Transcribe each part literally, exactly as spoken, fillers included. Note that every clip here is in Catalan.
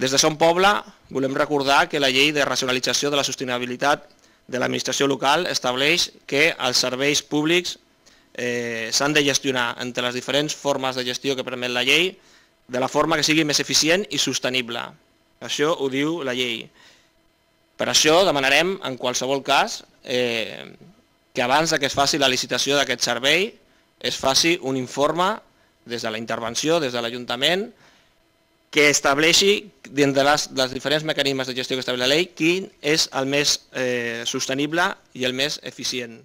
Des de Som Poble volem recordar que la llei de racionalització de la sostenibilitat de l'administració local estableix que els serveis públics s'han de gestionar entre les diferents formes de gestió que permet la llei de la forma que sigui més eficient i sostenible. Això ho diu la llei. Per això demanarem, en qualsevol cas, que abans que es faci la licitació d'aquest servei es faci un informe des de la intervenció, des de l'Ajuntament, que estableixi, dins dels diferents mecanismes de gestió que estableix la llei, quin és el més sostenible i el més eficient.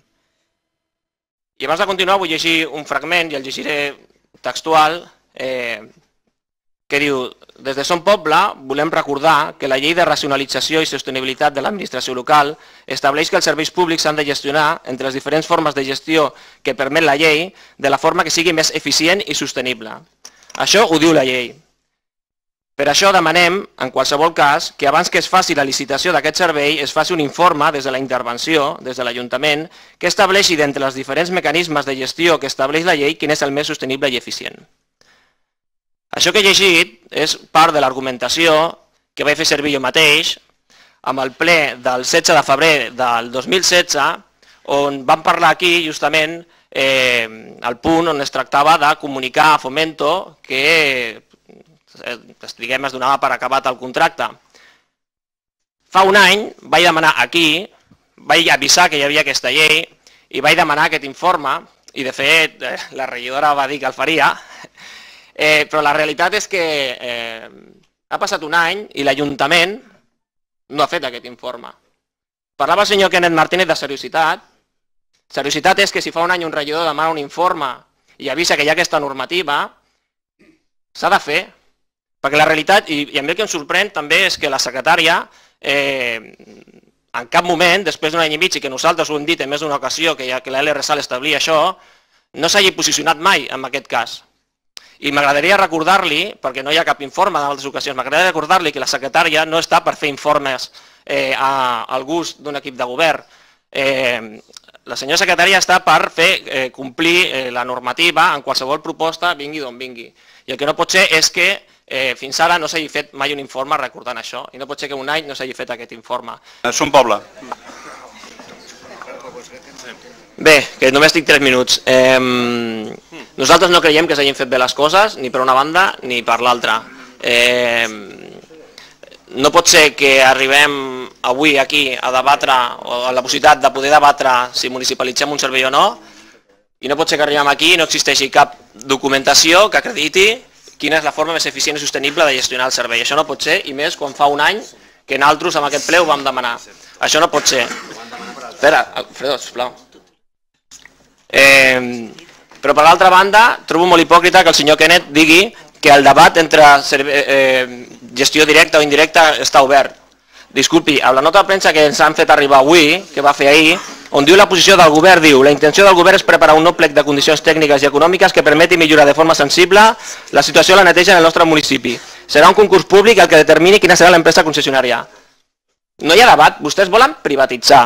I abans de continuar vull llegir un fragment, i el llegiré textual, que diu: des de Som Poble volem recordar que la llei de racionalització i sostenibilitat de l'administració local estableix que els serveis públics s'han de gestionar entre les diferents formes de gestió que permet la llei de la forma que sigui més eficient i sostenible. Això ho diu la llei. Per això demanem, en qualsevol cas, que abans que es faci la licitació d'aquest servei es faci un informe des de la intervenció, des de l'Ajuntament, que estableixi d'entre els diferents mecanismes de gestió que estableix la llei quin és el més sostenible i eficient. Això que he llegit és part de l'argumentació que vaig fer servir jo mateix amb el ple del setze de febrer del dos mil setze, on vam parlar aquí justament el punt on es tractava de comunicar a Fomento que diguem es donava per acabat el contracte. Fa un any vaig demanar aquí, vaig avisar que hi havia aquesta llei i vaig demanar aquest informe, i de fet la regidora va dir que el faria, però la realitat és que ha passat un any i l'Ajuntament no ha fet aquest informe. Parlava el senyor Kenneth Martínez de seriositat. Seriositat és que si fa un any un regidor demana un informe i avisa que hi ha aquesta normativa, s'ha de fer. Perquè la realitat, i a mi el que em sorprèn també és que la secretària en cap moment, després d'un any i mig, i que nosaltres ho hem dit en més d'una ocasió, que la L R S A establia això, no s'hagi posicionat mai en aquest cas. I m'agradaria recordar-li, perquè no hi ha cap informe en altres ocasions, m'agradaria recordar-li que la secretària no està per fer informes al gust d'un equip de govern. La senyora secretària està per fer complir la normativa en qualsevol proposta, vingui d'on vingui. I el que no pot ser és que fins ara no s'hagi fet mai un informe recordant això, i no pot ser que un any no s'hagi fet aquest informe. Som Poble. Bé, que només tinc tres minuts. Nosaltres no creiem que s'hagin fet bé les coses, ni per una banda ni per l'altra. No pot ser que arribem avui aquí a debatre, o a la possibilitat de poder debatre si municipalitzem un servei o no, i no pot ser que arribem aquí i no existeixi cap documentació que acrediti quina és la forma més eficient i sostenible de gestionar el servei. Això no pot ser, i més quan fa un any que nosaltres amb aquest ple ho vam demanar. Això no pot ser. Espera, Alfredo, sisplau. Però per l'altra banda, trobo molt hipòcrita que el senyor Kenneth digui que el debat entre gestió directa o indirecta està obert. Disculpi, a la nota de premsa que ens han fet arribar avui, que va fer ahir, on diu la posició del govern, diu: la intenció del govern és preparar un nou plec de condicions tècniques i econòmiques que permeti millorar de forma sensible la situació de la neteja en el nostre municipi. Serà un concurs públic el que determini quina serà l'empresa concessionària. No hi ha debat, vostès volen privatitzar.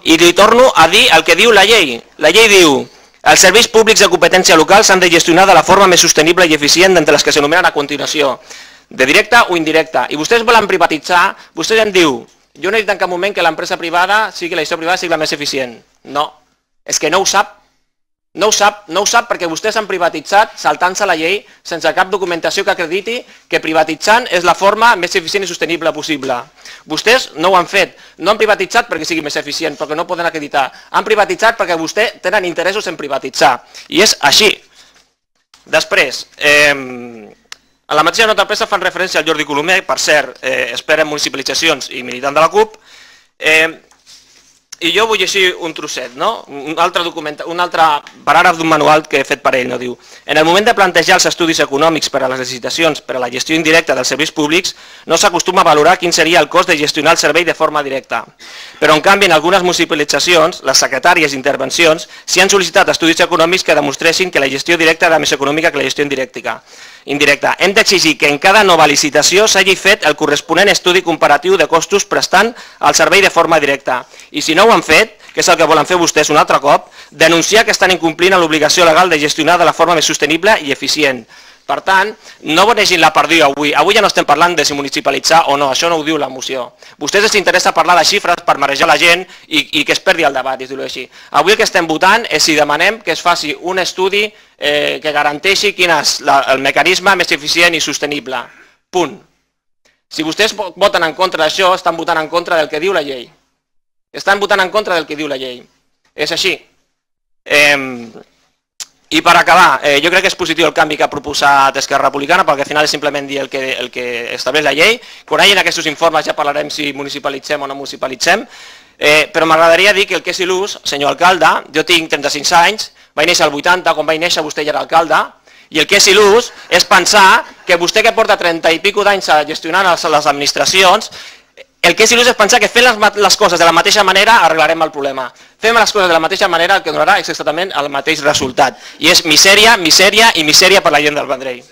I li torno a dir el que diu la llei. La llei diu: els serveis públics de competència local s'han de gestionar de la forma més sostenible i eficient d'entre les que s'enumeren a continuació, de directa o indirecta. I vostès volen privatitzar, vostès em diu: jo no he dit en cap moment que l'empresa privada sigui la gestió privada sigui la més eficient. No, és que no ho sap. No ho sap, no ho sap perquè vostès han privatitzat saltant-se la llei sense cap documentació que acrediti que privatitzant és la forma més eficient i sostenible possible. Vostès no ho han fet. No han privatitzat perquè sigui més eficient, perquè no poden acreditar. Han privatitzat perquè vostès tenen interessos en privatitzar. I és així. Després, a la mateixa nota de premsa fan referència al Jordi Colomer, per cert, expert en municipalitzacions i militant de la CUP, i jo vull llegir un trosset, un altre paràgraf d'un manual que he fet per ell. Diu: en el moment de plantejar els estudis econòmics per a les licitacions per a la gestió indirecta dels serveis públics, no s'acostuma a valorar quin seria el cost de gestionar el servei de forma directa. Però, en canvi, en algunes municipalitzacions, les secretàries d'intervencions s'hi han sol·licitat estudis econòmics que demostressin que la gestió directa era més econòmica que la gestió indirecta. indirecta. Hem d'exigir que en cada nova licitació s'hagi fet el corresponent estudi comparatiu de costos prestant el servei de forma directa. I si no ho han fet, que és el que volen fer vostès un altre cop, denunciar que estan incomplint l'obligació legal de gestionar de la forma més sostenible i eficient. Per tant, no bonegin la perdiu avui. Avui ja no estem parlant de si municipalitzar o no, això no ho diu la moció. Vostès els interessa parlar de xifres per marejar la gent i, i que es perdi el debat, dir-ho així. Avui el que estem votant és si demanem que es faci un estudi eh, que garanteixi quin és la, el mecanisme més eficient i sostenible. Punt. Si vostès voten en contra d'això, estan votant en contra del que diu la llei. Estan votant en contra del que diu la llei. És així. Eh, I per acabar, eh, jo crec que és positiu el canvi que ha proposat Esquerra Republicana, perquè al final és simplement dir el que, el que estableix la llei. Quan hi ha aquests informes ja parlarem si municipalitzem o no municipalitzem, eh, però m'agradaria dir que el que és il·lús, senyor alcalde, jo tinc trenta-cinc anys, vaig néixer al vuitanta, quan vaig néixer vostè ja era alcalde, i el que és il·lús és pensar que vostè que porta trenta i pico d'anys gestionant les administracions, el que és il·lús és pensar que fent les coses de la mateixa manera arreglarem el problema. Fem les coses de la mateixa manera el que donarà exactament el mateix resultat. I és misèria, misèria i misèria per la gent del Vendrell.